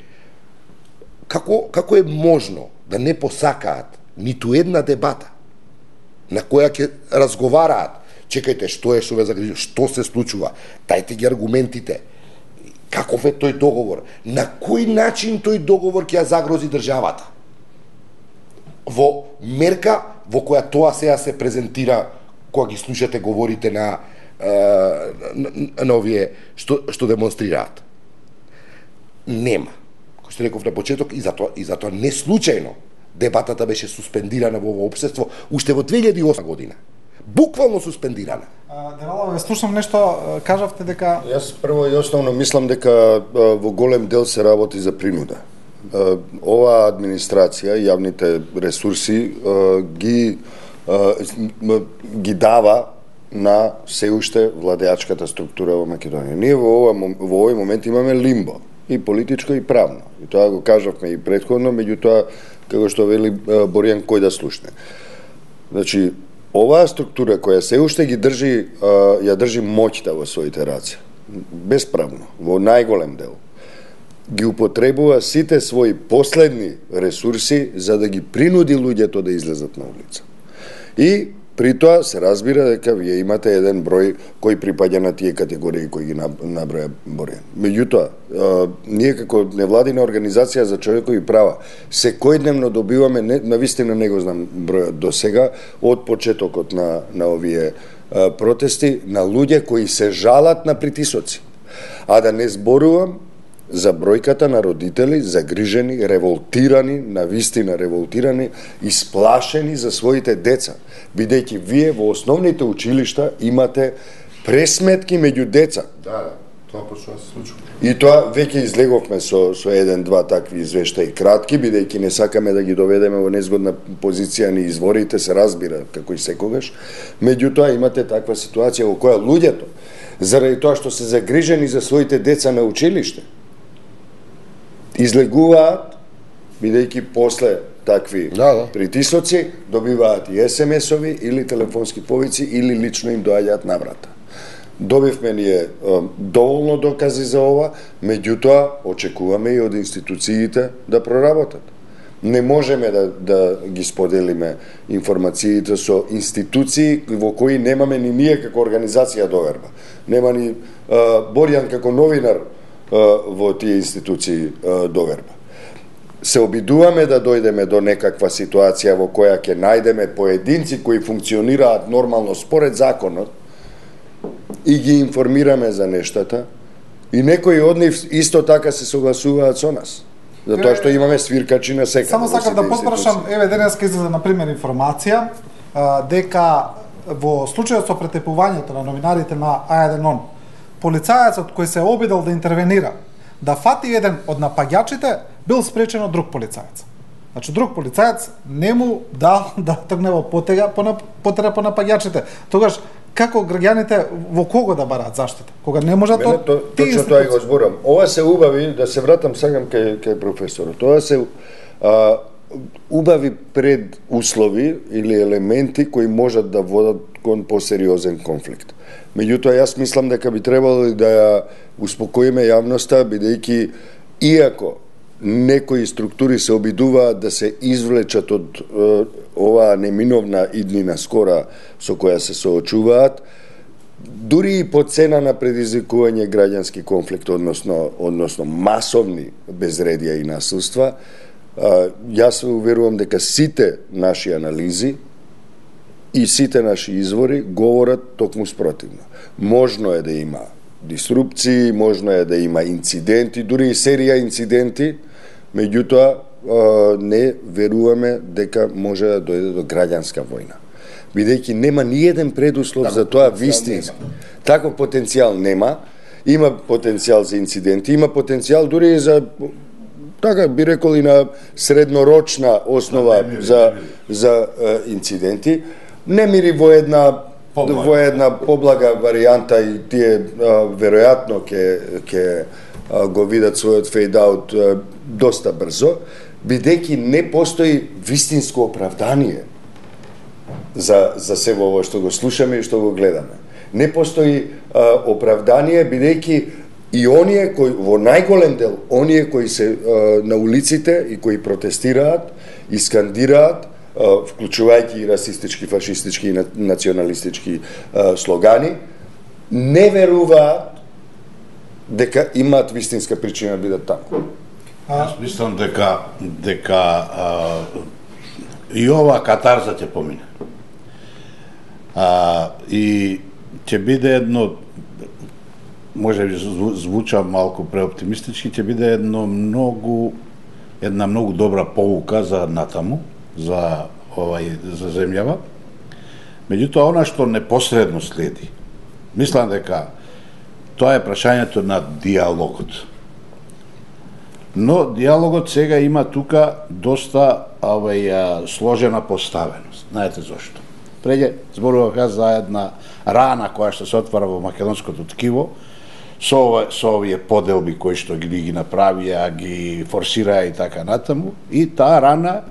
Како, како е можно да не посакаат ниту една дебата на која ќе разговараат? Чекајте, што е што ве загрижува, што се случува, дајте ги аргументите, каков е тој договор, на кој начин тој договор ќе ја загрози државата, во мерка во која тоа сега се презентира кога ги слушате говорите на, на, на овие што, што демонстрираат. Нема. Кој што реков на почеток, и затоа, и затоа не случајно дебатата беше суспендирана во ово општество уште во две илјади и осма година. Буквално суспендирана. Девало, ве слушам нешто, кажавте дека... Јас прво и основно мислам дека во голем дел се работи за принуда. Оваа администрација, јавните ресурси ги ги дава на се уште владеачката структура во Македонија. Ние во ова во овој момент имаме лимбо, и политичко и правно. И тоа го кажавме и претходно, меѓутоа како што вели Боријан, кој да слушне. Значи, оваа структура која се уште ги држи, ја држи моќта во своите раце, безправно, во најголем дел, ги употребува сите своји последни ресурси за да ги принуди луѓето да излезат на улица. И при тоа се разбира дека вие имате еден број кој припаѓа на тие категории кои ги наброја Боријан. Меѓутоа, ние како невладина организација за човекови права секојдневно добиваме, навистина не го знам бројот до сега, од почетокот на, на овие а, протести, на луѓе кои се жалат на притисоци. А да не зборувам за бројката на родители загрижени, револтирани, навистина револтирани, исплашени за своите деца, бидејќи вие во основните училишта имате пресметки меѓу деца. Да, да, тоа почнува да се случува. И тоа веќе излеговме со со еден-два такви извештаи кратки, бидејќи не сакаме да ги доведеме во незгодна позиција ни изворите, се разбира како и секогаш. Меѓутоа имате таква ситуација во која луѓето, заради тоа што се загрижени за своите деца на училиште, излегуваат, бидејќи после такви да, да. притисоци добиваат и ес ем есови или телефонски повици или лично им доаѓаат на врата. Добивме ние е, доволно докази за ова, меѓутоа очекуваме и од институциите да проработат. Не можеме да, да ги споделиме информациите со институции во кои немаме ни ние како организација доверба. Нема ни е, Боријан како новинар во тие институции доверба. Се обидуваме да дојдеме до некаква ситуација во која ќе најдеме поединци кои функционираат нормално според законот и ги информираме за нештата и некои од нив исто така се согласуваат со нас. Затоа што имаме свиркачи на секаде. Само сакам да потпрашам, еве денеска излезе на пример информација дека во случајот со претепувањето на новинарите на А еден он, полицајецот кој се обидел да интервенира, да фати еден од напаѓачите, бил спречен од друг полицаец. Значи, друг полицаец не му дал да тргне во потега по, потера по напаѓачите. Тогаш, како граѓаните во кого да бараат заштита? Кога не можат Мене, од то, тие точно тоа го зборам. Ова се убави, да се вратам сакам кај, кај професорот, тоа се а, убави пред услови или елементи кои можат да водат кон посериозен конфликт. Меѓутоа, јас мислам дека би требало да ја успокоиме јавноста, бидејќи иако некои структури се обидуваат да се извлечат од е, оваа неминовна иднина скора со која се соочуваат, дури и по цена на предизвикување граѓански конфликт, односно, односно масовни безредија и насилства, а, јас се уверувам дека сите наши анализи и сите наши извори говорат токму спротивно. Можно е да има дисрупции, можно е да има инциденти, дури и серија инциденти, меѓутоа не веруваме дека може да дојде до граѓанска војна. Бидејќи нема ни еден предуслов за тоа вистински. Таков потенцијал нема, има потенцијал за инциденти, има потенцијал дури и за, така би рекол, и на среднорочна основа за, за е, инциденти. Немири во една во една поблага варијанта и тие а, веројатно ќе ќе го видат својот фейд-аут доста брзо, бидејќи не постои вистинско оправдание за, за се во ово што го слушаме и што го гледаме. Не постои а, оправдание, бидејќи и оние кои, во најголем дел, оние кои се а, на улиците и кои протестираат и скандираат, а, вклучувајќи и расистички, фашистички и националистички а, слогани, не веруваат дека имаат вистинска причина да бидат таму. Јас мислам дека дека а, и ова катарза ќе помине. А, и ќе биде едно, може би звуча малку преоптимистички, ќе биде едно многу една многу добра поука за натаму, за овај за земјава. Меѓутоа она што непосредно следи, мислам дека тоа е прашањето на диалогот. Но диалогот сега има тука доста овај сложена поставеност. Знаете зошто? Преќе зборував јас за една рана која што се отвара во македонското ткиво, со, ова, со овие поделби кои што ги ги направија, ги форсираа и така натаму, и таа рана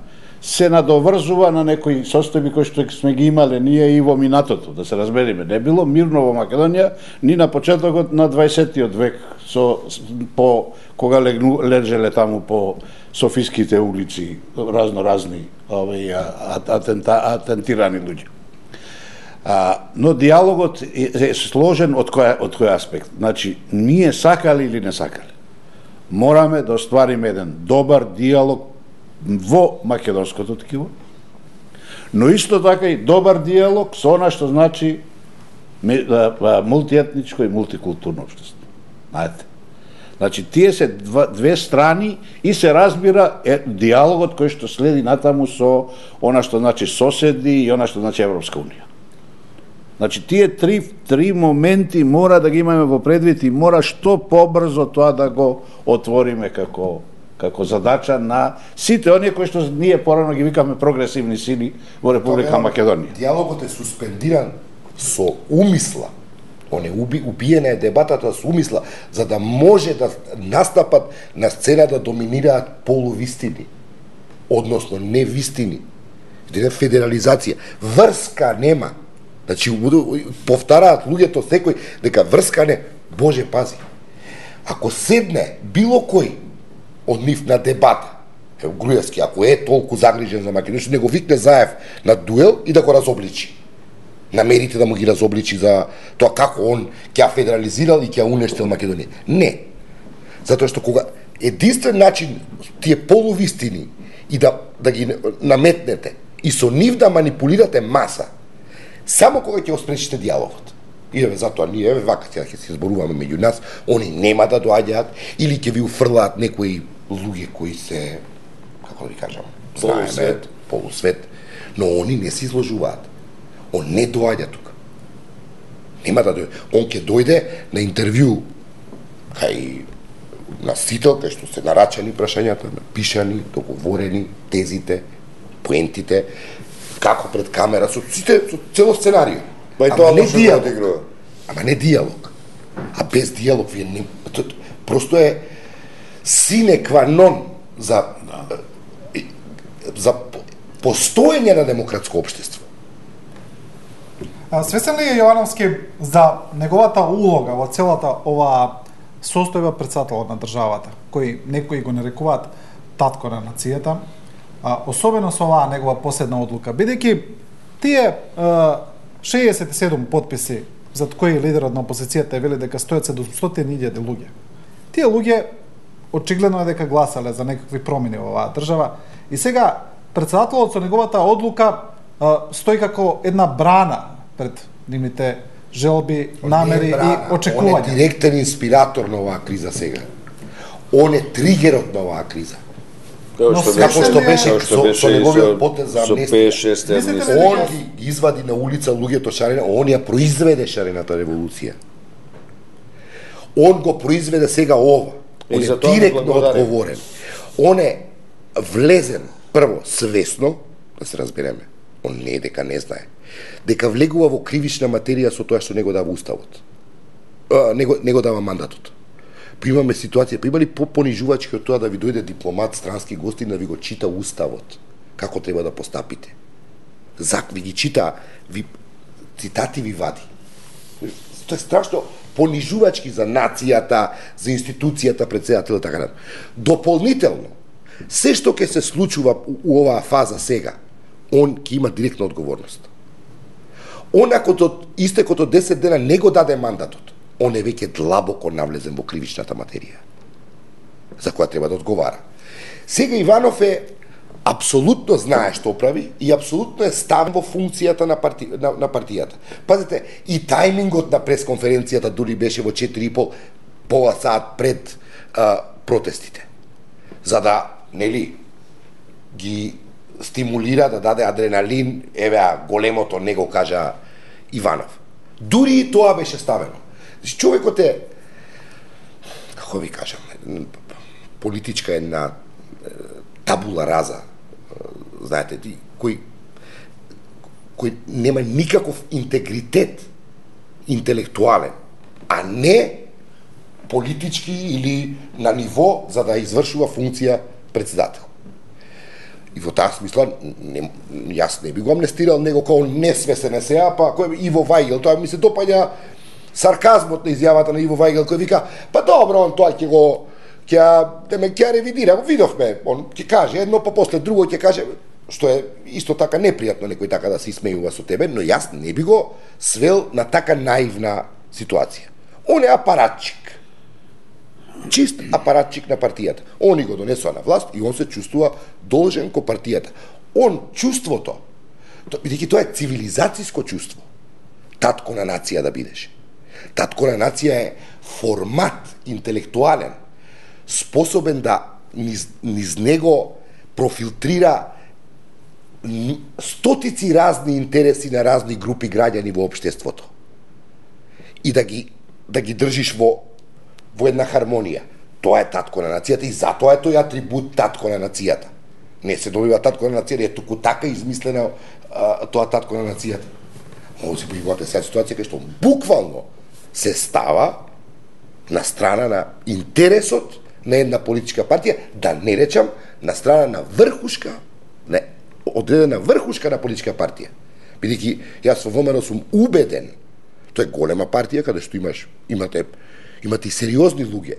се надоврзува на некои состојби кои што сме ги имале ние и во минатото, да се разбериме. Не било мирно во Македонија ни на почетокот на дваесеттиот век, со по кога легну, лежеле таму по софиските улици разно разни овој атента, атентирани луѓе. А, но диалогот е, е сложен од кој од кој аспект. Значи, ние сакали или не сакали, мораме да оствариме еден добар диалог во македонското ткиво, но исто така и добар диалог со она што значи мултиетничко и мултикултурно општество. Знаете? Значи, тие се два, две страни и се разбира е, диалогот кој што следи натаму со она што значи соседи и она што значи Европска унија. Значи, тие три, три моменти мора да ги имаме во предвид и мора што побрзо тоа да го отвориме како како задача на сите оние кои што ние порано ги викаме прогресивни сили во Република Македонија. Диалогот е суспендиран со умисла. Он е уби, убиена е дебатата со умисла, за да може да настапат на сцена да доминираат полувистини, односно невистини. Една федерализација. Врска нема. Значи, повтараат луѓето секој дека врска не. Боже, пази. Ако седне било кој од нив на дебата, е Груевски, ако е толку загрижен за Македонија, не го викне Заев на дуел и да го разобличи. Намерите да му ги разобличи за тоа како он ќе федерализирал и ќе уништил Македонија. Не. Затоа што кога единствен начин тие полувистини и да, да ги наметнете и со нив да манипулирате маса, само кога ќе спречите диалогот. И еве затоа ние еве вака ќе ќе се зборуваме меѓу нас, они нема да доаѓаат или ќе ви уфрлаат некои луѓе кои се, како да ви кажам, знаеме, полусвет, но они не се изложуваат. Он не доаѓа тука. Нема да дојде. Он ќе дојде на интервју кај носител, кај што се нарачани прашањата, напишани, договорени, тезите, поентите, како пред камера, со сите, со цело сценарио. Па и тоа не диалог. Ама не диалог. А без диалог вие не... Просто е sine qua non за за постоење на демократско општество. Свесен ли е Јовановски за неговата улога во целата ова состојба претседател на државата, кој некои го нарекуваат татко на нацијата, а, особено со оваа негова последна одлука, бидејќи тие шеесет и седум потписи за кои лидерот на опозицијата е вели дека стојат седумстотини илјади луѓе. Тие луѓе очигледно е дека гласале за некакви промени во оваа држава и сега претседателот со неговата одлука а, стои како една брана пред нивните желби, намери брана, и очекувања. Он е директен инспиратор на оваа криза сега. Он е тригерот на оваа криза. Како што како што беше како што со, беше со неговиот со- потез за со амнестија. пет шест амнестија. Он ги извади на улица луѓето шарена, он ја произведе шарената револуција. Он го произведе сега ова. И Он е за тоа му директно благодарим. одговорен. Он е влезен прво свесно, да се разбереме. Он не е дека не знае. Дека влегува во кривична материја со тоа што не го дава уставот. А, не, го, не го дава мандатот. Па имаме ситуација, па има ли по-понижувачки од тоа да ви дојде дипломат, странски гостин, да ви го чита уставот, како треба да постапите. Зак ви ги чита, ви, цитати ви вади. Тоа е страшно понижувачки за нацијата, за институцијата, председател, така натаму. Дополнително, се што ќе се случува у оваа фаза сега, он ќе има директна одговорност. Он ако до истекот од десет дена не го даде мандатот, он е веќе длабоко навлезен во кривичната материја, за која треба да одговара. Сега Иванов е апсолутно знае што прави и апсолутно е ставен во функцијата на, парти, на, на партијата. Пазете, и тајмингот на пресконференцијата дури беше во четири и пол пола сат пред а, протестите. За да, нели, ги стимулира да даде адреналин, еве големото не го кажа Иванов. Дури и тоа беше ставено. Значи, човекот е, како ви кажам, политичка една табула раза, знаете, кој кој нема никаков интегритет интелектуален, а не политички или на ниво за да извршува функција председател. И во таа смисла, не, јас не би го амнестирал него како несвесен е сега, па кој Иво Вајгел, тоа ми се допаѓа сарказмот на изјавата на Иво Вајгел кој вика, па добро, он тоа ќе го ќе деме ќе ревидира, видовме, он ќе каже едно, па после друго ќе каже, што е исто така непријатно некој така да се исмејува со тебе, но јас не би го свел на така наивна ситуација. Он е апаратчик. Чист апаратчик на партијата. Они го донесува на власт и он се чувствува должен ко партијата. Он чувството, бидејќи тоа е цивилизацијско чувство, татко на нација да бидеш. Татко на нација е формат интелектуален, способен да низ, низ него профилтрира стотици разни интереси на разни групи граѓани во општеството. И да ги да ги држиш во во една хармонија. Тоа е татко на нацијата и затоа е тој атрибут татко на нацијата. Не се добива татко на нацијата, е туку така измислено а, тоа татко на нацијата. Може се појавувате сега ситуација кај што буквално се става на страна на интересот на една политичка партија, да не речам на страна на врхушка, не, одредена врхушка на политичка партија. Бидејќи јас во ВМРО сум убеден, тоа е голема партија каде што имаш имате имате и сериозни луѓе.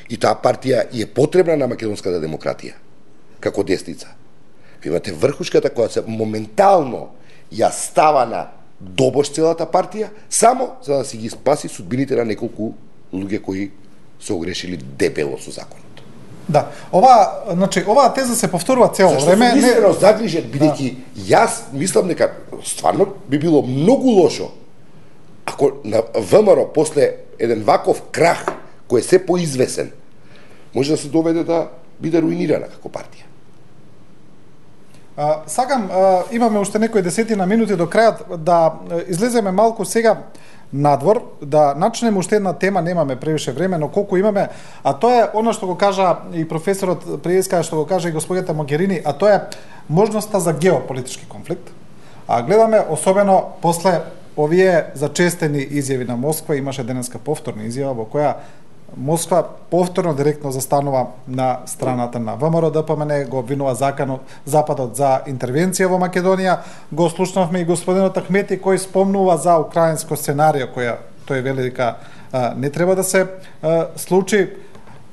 И таа партија е потребна на македонската демократија како десница. Ви имате врхушката која се моментално ја става на добош целата партија само за да си ги спаси судбините на неколку луѓе кои се огрешили дебело со законот. Да, ова, значи, оваа теза се повторува цело Зашто време. сум искрено загрижен, бидејќи јас мислам дека стварно би било многу лошо ако на ВМРО после еден ваков крах кој е се поизвесен може да се доведе да биде руинирана како партија. А, сакам, а, имаме уште некои десетина минути до крајот да излеземе малку сега надвор, да начнеме уште една тема, немаме превише време, но колку имаме, а тоа е она што го кажа и професорот Приеска, што го кажа и господјата Могерини, а тоа е можноста за геополитички конфликт. А гледаме особено после овие зачестени изјави на Москва, имаше денеска повторна изјава во која Москва повторно директно застанува на страната на ВМРО ДПМН, го обвинува заканот, Западот за интервенција во Македонија. Го слушнавме и господинот Ахмети кој спомнува за украинско сценарио која тој вели дека а, не треба да се а, случи.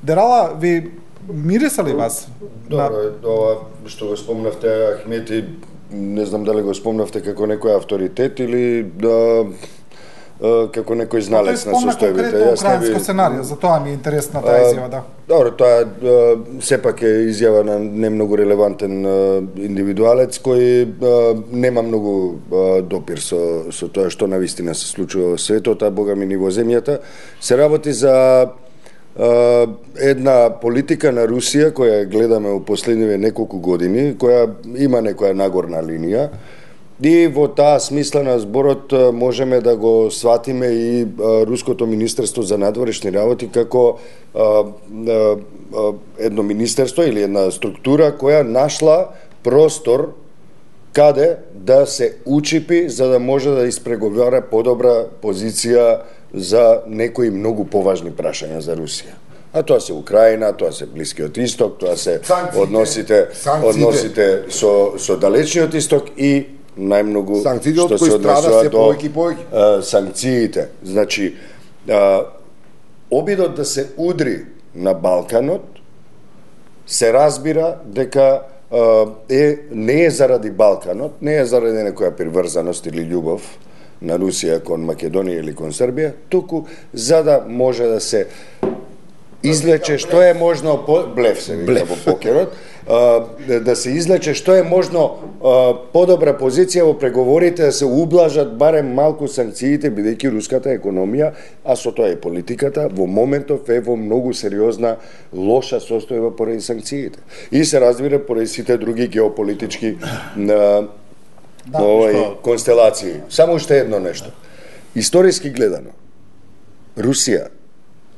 Дерала, ви мириса ли вас? Добро, на... ова што го спомнавте Ахмети, не знам дали го спомнавте како некој авторитет или да како некој зналец на состојбите. состојбите. Конкретно украинско сценарио, за тоа ми е интересна таа изјава, да. Добро, тоа сепак е изјава на не многу релевантен индивидуалец кој нема многу допир со со тоа што навистина се случува во светот, а бога ми ни во земјата. Се работи за една политика на Русија која гледаме во последниве неколку години, која има некоја нагорна линија. И во таа смисла на зборот можеме да го сватиме и Руското министерство за надворешни работи како а, а, едно министерство или една структура која нашла простор каде да се учипи за да може да испреговара подобра позиција за некои многу поважни прашања за Русија. А тоа се Украина, тоа се Блискиот Исток, тоа се санкциите, односите, санкциите. односите со, со Далечниот Исток и најмногу што се однесува до повеќе повеќе санкциите. Значи, а, обидот да се удри на Балканот се разбира дека а, е не е заради Балканот, не е заради некоја приврзаност или љубов на Русија кон Македонија или кон Србија, туку за да може да се излече што е можно по... блеф се вика во покерот, да се излече што е можно подобра позиција во преговорите, да се ублажат барем малку санкциите, бидејќи руската економија, а со тоа и политиката, во моментов е во многу сериозна лоша состојба поради санкциите. И се разбира поради сите други геополитички да, овај, што... констелации. Само уште едно нешто. Историски гледано, Русија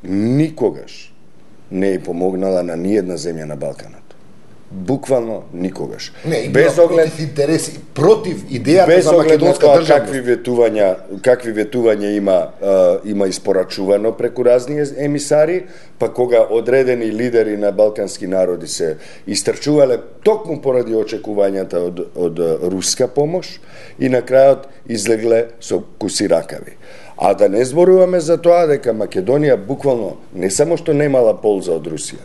никогаш не е помогнала на ниедна земја на Балканот. Буквално никогаш. Не, без оглед против интереси, против идејата за македонска држава. Какви ветувања, какви ветувања има а, има испорачувано преку разни емисари, па кога одредени лидери на балкански народи се истрчувале токму поради очекувањата од од руска помош и на крајот излегле со куси ракави. А да не зборуваме за тоа дека Македонија буквално не само што немала полза од Русија,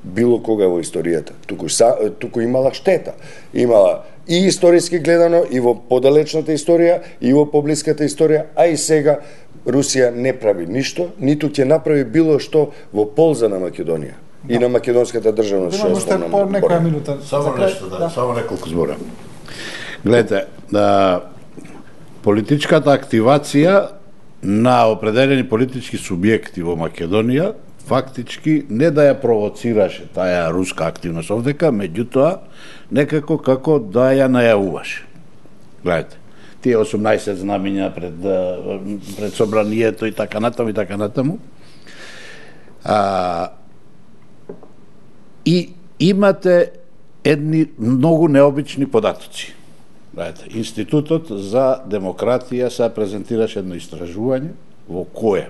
било кога во историјата, туку, са, туку имала штета. Имала и историски гледано, и во подалечната историја, и во поблиската историја, а и сега Русија не прави ништо, ниту ќе направи било што во полза на Македонија. Да. И на македонската државност. Имаме уште по некоја минута. Само нешто, да, да. само неколку збора. Гледате, да, политичката активација на определени политички субјекти во Македонија фактички не да ја провоцираше таа руска активност овдека, меѓутоа некако како да ја најавуваше. Гледате, тие осумнаесет знамења пред пред собранието и така натаму и така натаму. А, и имате едни многу необични податоци. Гледате, Институтот за демократија се презентираше едно истражување во кое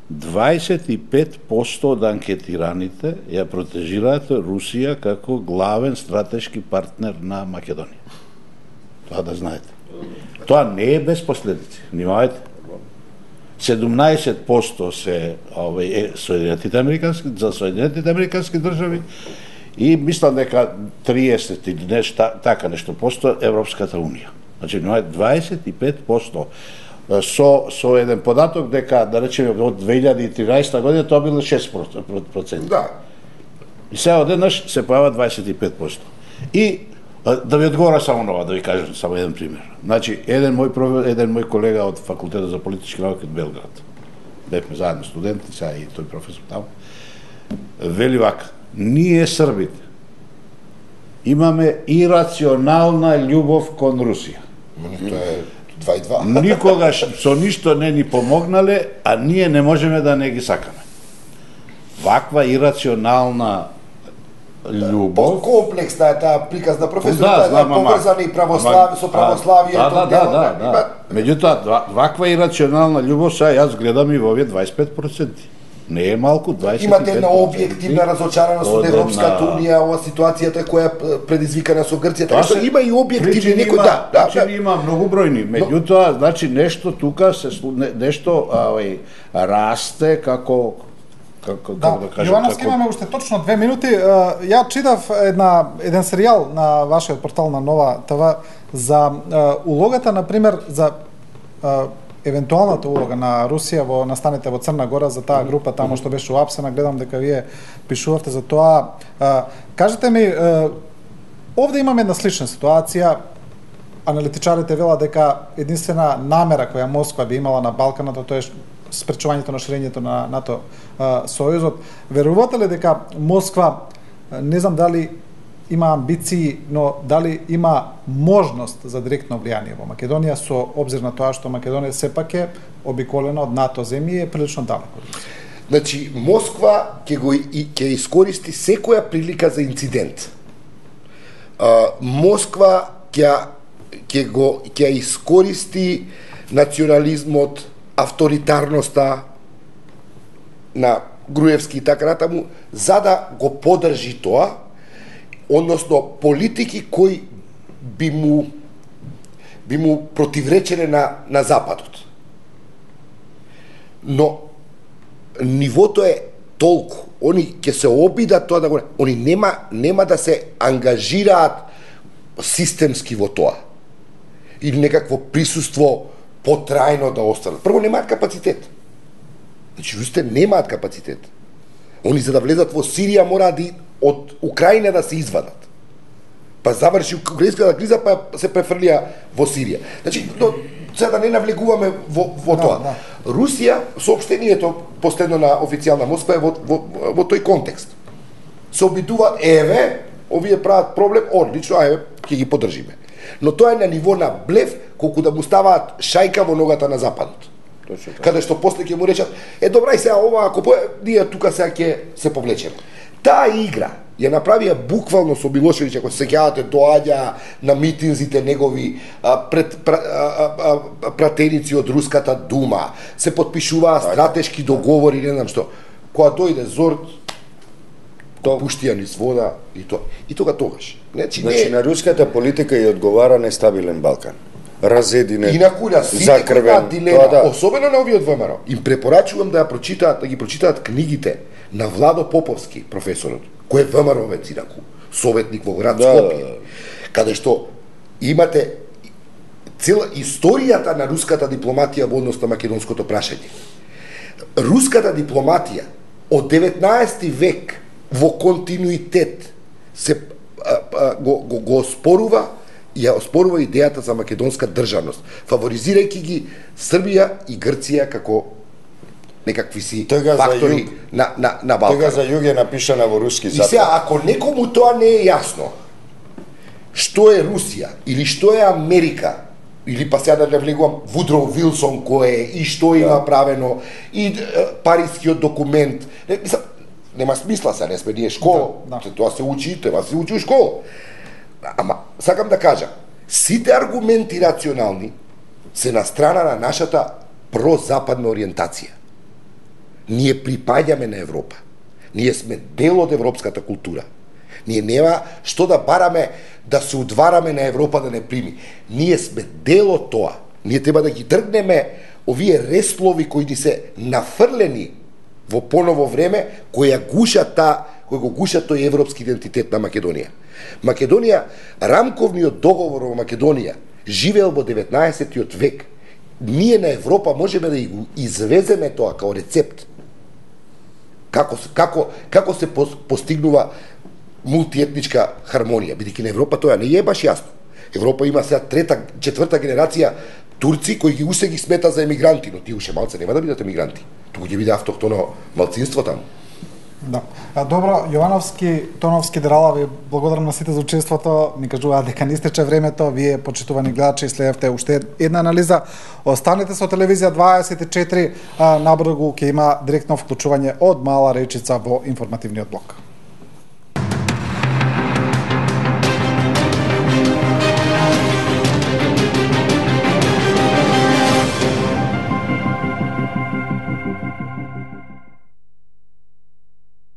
дваесет и пет проценти од анкетираните ја протежираат Русија како главен стратешки партнер на Македонија. Тоа да знаете. Тоа не е без последици. Внимавајте. седумнаесет проценти се овој Соединетите американски за Соединетите американски држави и мислам дека триесет или нешто така нешто посто Европската унија. Значи внимавајте, дваесет и пет проценти со со еден податок дека да речеме од две илјади и тринаесета година тоа било шест проценти. Да. И сега одеднаш се појава дваесет и пет проценти. И да ви одговора само нова, да ви кажам само еден пример. Значи еден мој еден мој колега од факултетот за политички науки од Белград. Бевме заедно студенти, сега и тој професор таму. Вели вака: ние србите имаме ирационална љубов кон Русија. Тоа е два и два. Никогаш со ништо не ни помогнале, а ние не можеме да не ги сакаме. Ваква ирационална љубов. Комплексна е таа приказна професор, да, таа е поврзана и православ, со православието. Да, да, да, да, да. Меѓутоа, ваква ирационална љубов сега јас гледам и во овие дваесет и пет проценти. Не е малку, дваесет и пет проценти. Имате една објективна разочараност од Европската унија, ова ситуацијата која е предизвикана со Грција, така што има и објективни некои, да, да, да. Има многу бројни, меѓутоа, значи нешто тука се нешто ај расте како како да, да кажам, Јовановски, како... имаме уште точно две минути. Ја читав една еден серијал на вашиот портал на Нова ТВ за улогата, на пример, за евентуалната улога на Русија во настаните во Црна Гора за таа група тамо што беше уапсена, гледам дека вие пишувавте за тоа. А, кажете ми, а, овде имаме една слична ситуација. Аналитичарите велат дека единствена намера која Москва би имала на Балканот, тоа е спречувањето на ширењето на НАТО а, сојузот. Верувате ли дека Москва, не знам дали има амбиции, но дали има можност за директно влијание во Македонија со обзир на тоа што Македонија сепак е обиколена од НАТО земји и е прилично далеко? Значи, Москва ќе го и ќе искористи секоја прилика за инцидент. А, Москва ќе ќе го ќе искористи национализмот, авторитарноста на Груевски и така натаму, за да го поддржи тоа, односно политики кои би му би му противречеле на на Западот. Но нивото е толку, они ќе се обидат тоа да го, они нема нема да се ангажираат системски во тоа. Или некакво присуство потрајно да останат. Прво немаат капацитет. Значи, русите немаат капацитет. Они за да влезат во Сирија мора да од Украина да се извадат. Па заврши украинската криза, па се префрлија во Сирија. Значи, но, сега да не навлегуваме во, во да, тоа. Да. Русија, соопштението последно на официјална Москва е во, во, во тој контекст. Се обидува, еве, овие прават проблем, одлично, еве, ќе ги поддржиме. Но тоа е на ниво на блеф, колку да му ставаат шајка во ногата на Западот. Каде што после ќе му речат, е добра и сега ова, ако по... ние тука сега ќе се повлечеме. Таа игра ја направија буквално со Милошевиќ, ако се сеќавате, доаѓа на митинзите негови а, пред пра, а, а, пратеници од Руската дума, се потпишуваа стратешки договори, не знам што. Кога дојде Зорт, то пуштија низ вода и тоа. И тога тогаш. Значи, значи не... на руската политика и одговара нестабилен Балкан. Разединет, Инакуля, сите кои имаат дилема, да. Особено на овие од ВМРО, им препорачувам да ја прочитаат, да ги прочитаат книгите на Владо Поповски, професорот, кој е ВМРО-вец инаку, советник во град Скопје, да. Каде што имате цела историјата на руската дипломатија во однос на македонското прашање. Руската дипломатија од деветнаесети век во континуитет се а, а, го, го, го оспорува и ја оспорува идејата за македонска државност, фаворизирајќи ги Србија и Грција како некакви си Тега фактори на, на, на Балкан. Тега за југ е напишана во руски запад. И сега, ако некому тоа не е јасно, што е Русија, или што е Америка, или па сега да не влегувам Вудроу Вилсон кој е, и што да. Има правено, и е, парискиот документ, не, мислам, нема смисла сега, не сме ние школа, да, да. Тоа се учи, тоа се учи у школа. Ама, сакам да кажам, сите аргументи рационални се на страна на нашата прозападна ориентација. Ние припаѓаме на Европа. Ние сме дел од европската култура. Ние нема што да бараме да се удвараме на Европа да не прими. Ние сме дел од тоа. Ние треба да ги дргнеме овие реслови кои ни се нафрлени во поново време, кои ја гушат та, кои го гушат тој европски идентитет на Македонија. Македонија, рамковниот договор во Македонија живеел во деветнаесеттиот век. Ние на Европа можеме да го извеземе тоа као рецепт. Како како како се постигнува мултиетничка хармонија, бидејќи на Европа тоа не е баш јасно. Европа има сега трета, четврта генерација турци кои ги усе ги смета за емигранти, но тие уште малце нема да бидат емигранти. Туку ќе биде автохтоно малцинство таму. Да. А, добро, Јовановски, Тоновски, Дерала, ви благодарам на сите за учеството. Ни кажуваат дека не истече времето. Вие, почитувани гледачи, следевте уште една анализа. Останете со телевизија дваесет и четири. Набрзо ќе има директно вклучување од Мала Речица во информативниот блок.